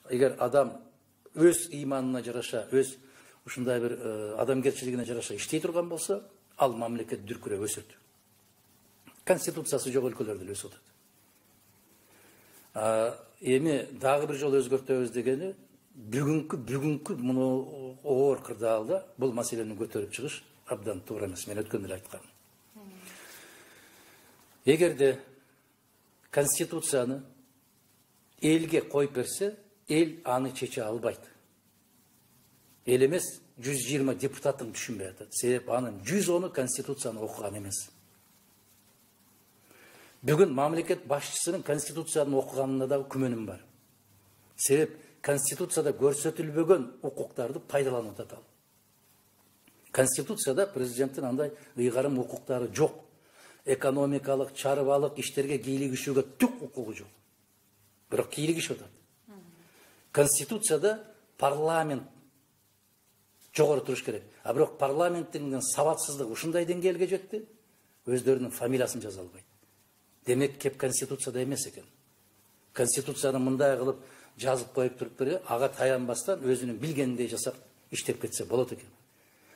эгер адам өз ыйманына жараша, өз ушундай бир адамгерчилигине жараша иштей турган болсо, ал мамлекет дүркүрөп өсөт. Конституциясы жок өлкөлөрдө эле өсүп атат. Эми дагы бир жолу өзгөртөбүз дегени бүгүнкү муну оор кырдаалда бул маселени көтөрүп чыгыш абдан туура эмес. Мен өткөндө эле айткам. Эгерде конституцияны элге коюп берсе, эл аны чече албайт. Эл эмес 120 депутаттын түшүнбөй атат. Себеп анын 110-у конституцияны окуган эмес. Бүгүн мамлекет башчысынын конституцияны окуганына да күмөнүм бар. Себеп конституцияда көрсөтүлбөгөн укуктарды пайдаланып атат. Конституцияда президенттин андай ыйгарым укуктары жок. Экономикалык, чарбалык иштерге кийлигишүүгө түк укугу жок. Бирок кийлигишип атат. Конституцияда парламент жогору туруш керек. А бирок парламенттин сабатсыздыгы ушундай деңгээлге жетти, өздөрүнүн фамилиясын жаза албайт. Демек кеп конституцияда эмес экен. Конституцияны мындай кылып жазып коюп туруп, ага таянбастан өзүнүн билгениндей жасап иштеп кетсе болот экен.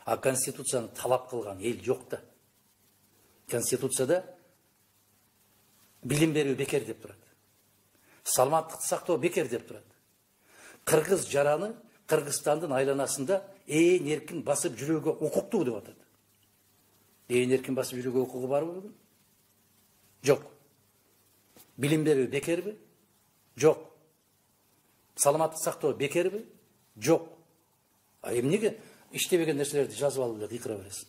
А конституцияны талап кылган эл жок да. Конституцияда билим берүү бекер деп турат. Саламаттыкты сактоо бекер деп турат. Кыргыз жараны Кыргызстандын айланасында ээн эркин басып жүрүүгө укуктуу деп атат. Ээн эркин басып жүрүүгө укугу барбы бүгүн? Жок. Билим берүү бекерби? Жок. Саламаттыкты сактоо бекерби? Жок. А эмнеге иштебеген нерселерди жазып алып эле кыйкыра бересиң?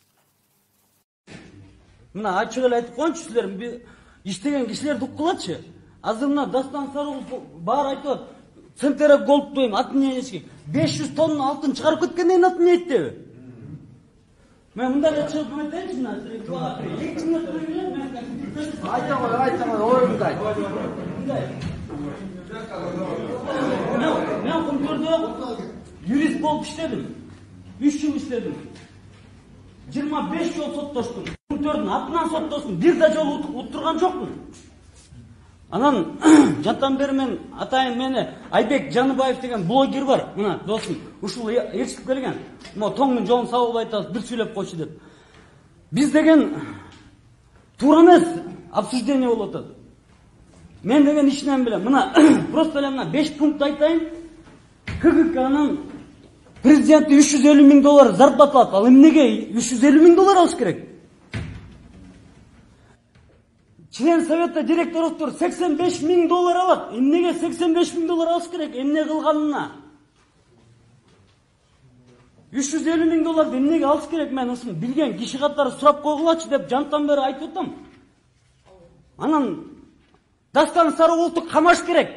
Мына ачык эле айтып коеюнчу силер, иштеген кишилерди уккулачы. Азыр мына Дастан Сарыгулов баары айтып атат. Центрек голд дейм, атын эчки. 500 тонна алтын чыгарып кеткенден атын эйттеби? Мен мындай эле чыгып айтайынчы мына. 2 мүнөт берем мен. Айтам, оюмду айт. Мен Кумтөрдө юрист болуп иштедим. 3 жыл иштедим. 25 жол соттоштум. Кумтөрдүн атынан соттоштум. Бир да жолу уттурган жокмун. Анан жантан бери мен атайын мени Айбек Жаныбаев деген блогер бар. Мына досум, ушул ээрчитип келген. Мо тоңдун жолун сабылбай атабыз, бир сүйлөп койчу деп. Биз деген туура эмес обсуждение болуп атат. Мен деген ичинен билем. Мына просто эле мына 5 пункт айтайын. КГКнын президенти $350,000 зарплата алат. Ал эмнеге $350,000 алыш керек? Член совета директорлор $85,000 алат. Эмнеге $85,000 алыш керек? Эмне кылганына? $350,000 эмнеге алыш керек? Мен ушуну билген киши катары сурап койгулачы деп жантан бери айтып атам. Анан Дастан Сарыгуловду камаш керек.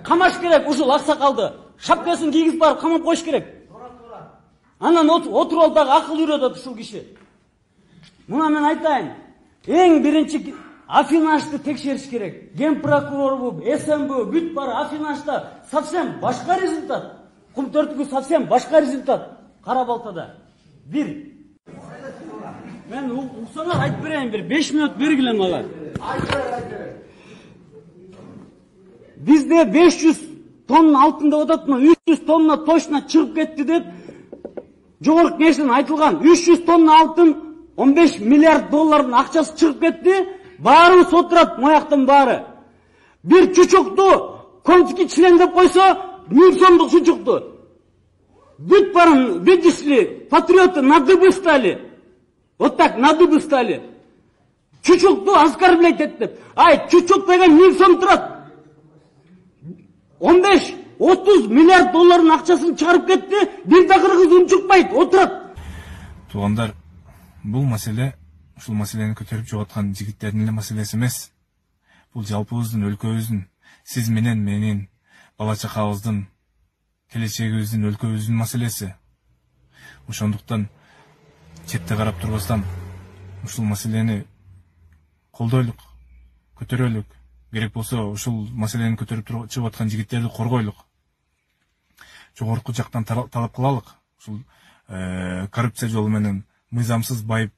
Камаш керек ушул аксакалды. Шапкасын кийгизип барып камап коюш керек. Анан отуруп алып дагы акыл үйрөтөт ушул киши. Мына мен айтайын. Эң биринчи Афинашты текшериш керек. Ген прокурорбу, СМБ, бүт бары Афинашта совсем башка результат. Кумтөрдүкү совсем башка результат. Кара Балтада. Бир. Мен уксаңар айтып берейин, бир 5 мүнөт бергиле мага. Бизде 500 тонна алтын деп ататмы? 300 тонна точно чыгып кетти деп жогорку кеңештен айтылган. 300 тонна алтын $15 миллиард акчасы чыгып кетти. Баарыбыз отурат, мояктын баары. Бир чучукту конский член деп койсо, 1000 сомдук чучукту. Бүт барын, видишь ли, патриоты на дыбы стали. Вот так, на дыбы стали. Чучукту оскорблять деп. Ай, чучук деген 1000 сом турат. 15-30 миллиард долларын акчасын чыгарып кетти. Бир да кыргыз унчукпайт, отурат. Туугандар, бул маселе ушул маселени көтөрүп чыгып аткан жигиттердин эле маселеси эмес. Бул жалпыбыздын, өлкөбүздүн, сиз менен менин, бала чакабыздын, келечегибиздин, өлкөбүздүн маселеси. Ошондуктан четте карап турбастан ушул маселени колдойлук, көтөрөлүк. Керек болсо ушул маселени көтөрүп чыгып аткан жигиттерди коргойлук. Жогорку жактан талап кылалык. Ушул коррупция жолу менен мыйзамсыз байып,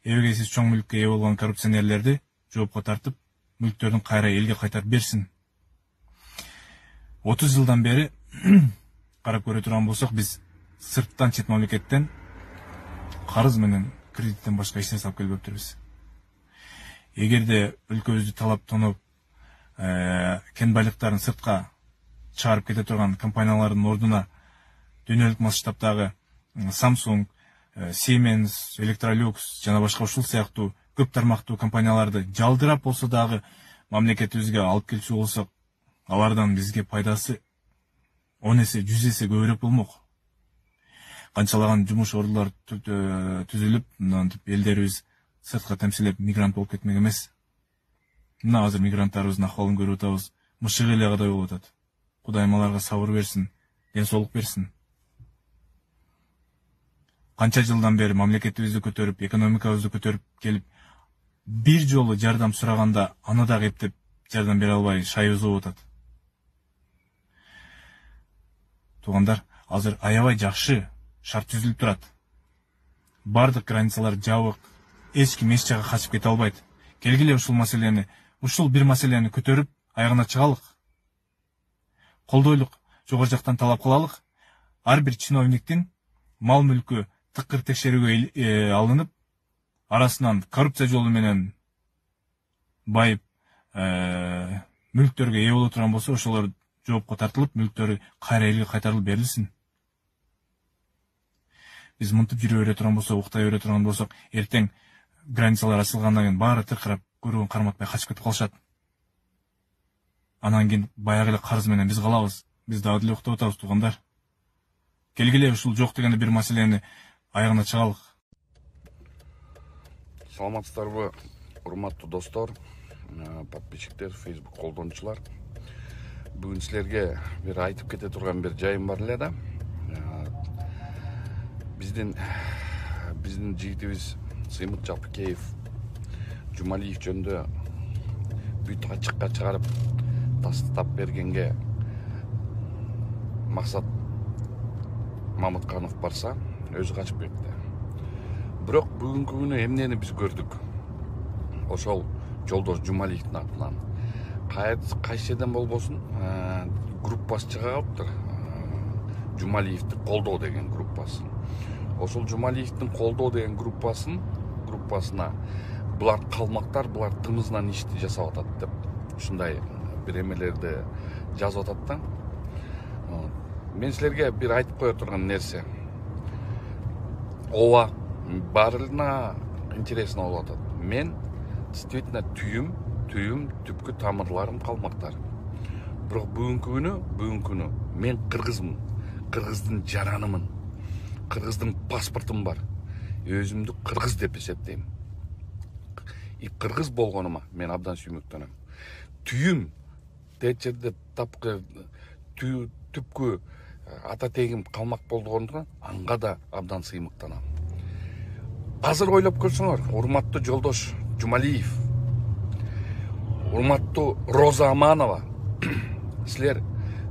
эбегейсиз чоң мүлккө ээ болгон коррупционерлерди жоопко тартып, мүлктөрүн кайра элге кайтарып берсин. 30 жылдан бери карап көрө турган болсок, биз сырттан, чет мамлекеттен карыз менен кредиттен башка эч нерсе алып келбептирбиз. Эгерде өлкөбүздү талап тоноп, кен байлыктарын сыртка чыгарып кете турган компаниялардын ордуна дүйнөлүк масштабдагы Samsung, Siemens, Electrolux жана башка ушул сыяктуу көп тармактуу компанияларды жалдырап болсо дагы мамлекетибизге алып келчү болсок, алардан бизге пайдасы 10 эсе, 100 эсе көбүрөөк болмок. Канчалаган жумуш ордулар түзүлүп, мынтип элдерибиз сыртка темсилеп мигрант болуп кетмек эмес. Мына азыр мигранттарыбыздын акыбалын көрүп атабыз. Мышык эле кадай болуп атат. Кудайым аларга сабыр берсин, ден соолук берсин. Канча жылдан бери мамлекетибизди көтөрүп, экономикабызды көтөрүп келип, бир жолу жардам сураганда аны дагы эптеп жардам бере албай шайыбыз болуп атат. Туугандар, азыр аябай жакшы шарт түзүлүп турат. Бардык границалар жабык, эч ким эч жакка качып кете албайт. Келгиле ушул бир маселени көтөрүп, аягына чыгалык. Колдойлук жогору жактан талап кылалык. Ар бир чиновниктин мал мүлкү тыкыр текшерүүгө алынып, арасынан коррупция жолу менен байып, мүлктөргө ээ боло турган болсо, ошолор жоопко тартылып, мүлктөрү кайра элге кайтарылып берилсин. Биз мынтип жүрө бере турган болсок, уктай бере турган болсок, эртең границалар ачылгандан кийин баары тыркырап, көрүүн карматпай качып кетип калышат. Анан кийин баягы эле карыз менен биз калабыз. Биз дагы деле уктап атабыз, туугандар. Келгиле ушул жок дегенде бир маселени аягына чыгалык. Саламатсыздарбы, урматтуу достор, подписчиктер, Facebook колдонуучулар. Бүгүн силерге бир айтып кете турган бир жайым бар эле да. Биздин жигитибиз Сыймык Жапыкеев Жумалиев жөнүндө бүт ачыкка чыгарып тастап бергенге Максат Мамытканов барса, өзү качып кетти. Бирок бүгүнкү күнү эмнени биз көрдүк? Ошол Жолдош Жумалиевдин атынан кайсы жерден болбосун группасы чыга калыптыр. Жумалиевди колдоо деген группасы. Ошол Жумалиевдин колдоо деген группасына булар калмактар, булар тымызынан ишти жасап атат деп ушундай бир эмелерди жазып атат да. Мен силерге бир айтып кое турган нерсе. Ооба, баарына интересно болуп атат. Мен действительно түйүм түпкү тамырларым калмактар. Бирок бүгүнкү күнү мен кыргызмын. Кыргыздын жаранымын. Кыргыздын паспортум бар. Өзүмдү кыргыз деп эсептейм. И кыргыз болгонума мен абдан сүймөктөнөм. Түйүм течерде тапкы түпкү ата тегим калмак болгондуктан анга да абдан сыймыктанам. Азыр ойлоп көрсөңөр, урматтуу Жолдош Жумалиев, урматтуу Роза Аманова, силер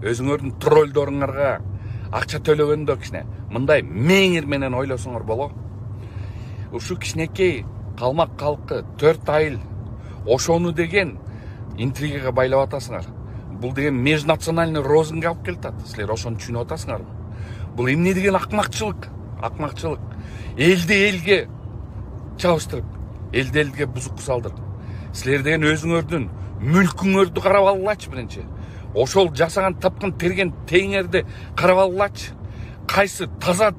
өзүңөрдүн троллдоруңарга акча төлөгөндө кичине мындай меңир менен ойлосоңор боло. Ушу кичинекей калмак калкы 4 айыл ошону деген интригага байлап атасыңар. Бул деген межнациональный розынга алып келатат. Силер ошону түшүнүп атасыңарбы? Бул эмне деген акмакчылык? Элди элге чабыштырып, элди элге бузук салдырып. Силер деген өзүңөрдүн мүлкүңөрдү карап алгылачы биринчи. Ошол жасаган тапкан терген теңерди карап алгылачы. Кайсы таза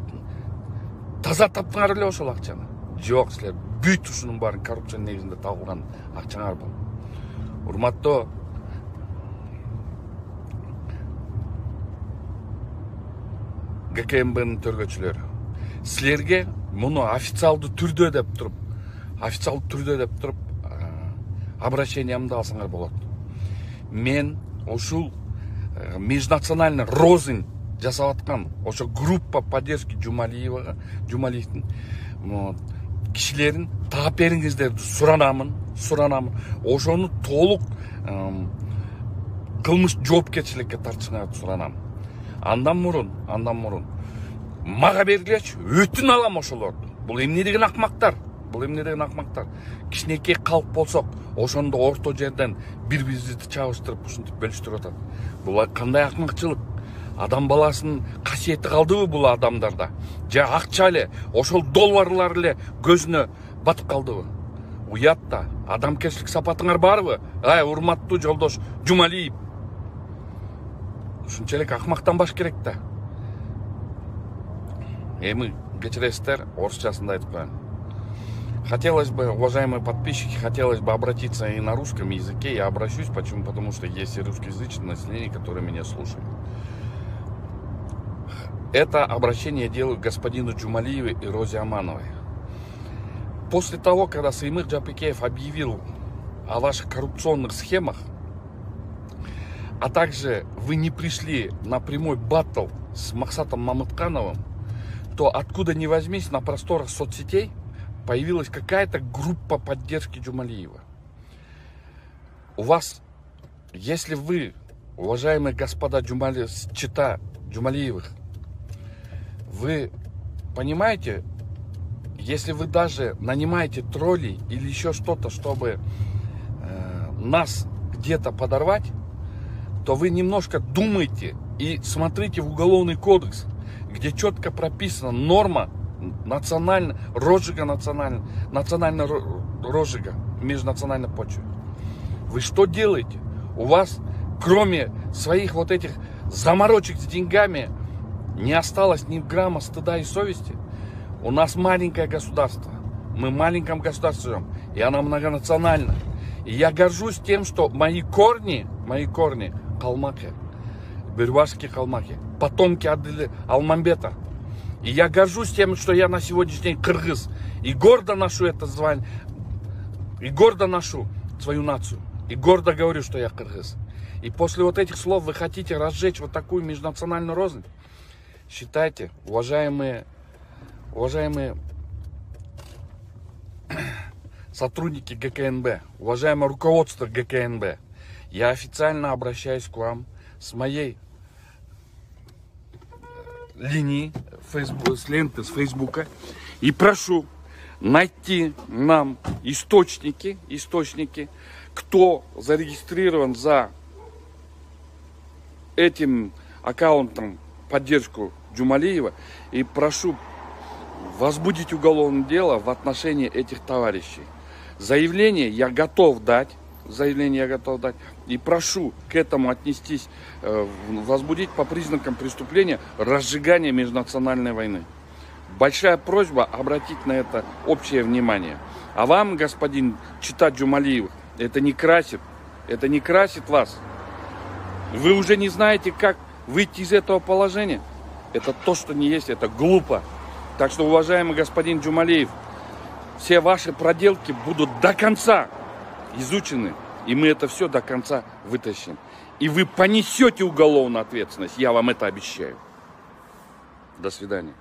таптыңар эле ошол акчаны? Жок, силер бүт ушунун баарын коррупция негизинде табылган акчаңар бул. Урматтуу ГКМБнын төргөчүлөрү, силерге муну официалдуу түрдө деп туруп обращениямды алсаңар болот. Мен ушул межнациональный розын жасап аткан ошо группа поддержки Жумалиевдин кишилерин таап бериңиздерди суранамын. Ошону толук кылмыш жоопкерчиликке тартышыңарды суранам. Андан мурун мага бергилечи, өтүн алам ошолорду. Бул эмне деген акмактар? бул эмне деген акмактар? Кичинекей калк болсок, ошондо орто жерден бири-бирибизди чабыштырып ушинтип бөлүштүрүп атат. Бул кандай акмакчылык? Адам баласынын касиети калдыбы бул адамдарда? Же акча эле, ошол долларлар эле көзүнө батып калдыбы? Уят да, адамкерчилик сапатыңар барбы? Ай, урматтуу жолдош Жумалиев. Ушунчалык акмактанбаш керек да. Эми кечиресиздер, орусчасында айтып коеюн. Хотелось бы, уважаемые подписчики, хотелось бы обратиться и на русском языке. Я обращусь, почему? Потому что есть и русскоязычное население, которое меня слушает. Это обращение я делаю к господину Джумалиеву и Розе Амановой. После того, когда Саймыр Жапыкеев объявил о ваших коррупционных схемах, а также вы не пришли на прямой баттл с Максатом Мамыткановым, то откуда ни возьмись на просторах соцсетей появилась какая-то группа поддержки Джумалиева. У вас, если вы, уважаемые господа чита Джумалиевых, вы понимаете, если вы даже нанимаете троллей или еще что-то, чтобы нас где-то подорвать, то вы немножко думайте и смотрите в Уголовный кодекс, где четко прописана норма розжига национального розжига межнациональной почвы. Вы что делаете? У вас, кроме своих вот этих заморочек с деньгами, не осталось ни грамма стыда и совести. У нас маленькое государство. Мы в маленьком государстве живем, и оно многонационально. И я горжусь тем, что мои корни калмаки, бюрвашские калмаки, потомки Адыли Алмамбета. И я горжусь тем, что я на сегодняшний день кыргыз. И гордо ношу это звание, и гордо ношу свою нацию. И гордо говорю, что я кыргыз. И после вот этих слов вы хотите разжечь вот такую межнациональную рознь? Считайте, уважаемые сотрудники ГКНБ, уважаемое руководство ГКНБ, я официально обращаюсь к вам с моей линии, с ленты, с Фейсбука, и прошу найти нам источники, кто зарегистрирован за этим аккаунтом поддержку Джумалиева, и прошу возбудить уголовное дело в отношении этих товарищей. Заявление я готов дать, и прошу к этому отнестись, возбудить по признакам преступления разжигания межнациональной войны. Большая просьба обратить на это общее внимание. А вам, господин чита Джумалиев, это не красит вас. Вы уже не знаете, как выйти из этого положения. Это то, что не есть, это глупо. Так что, уважаемый господин Джумалиев, все ваши проделки будут до конца изучены, и мы это все до конца вытащим. И вы понесете уголовную ответственность, я вам это обещаю. До свидания.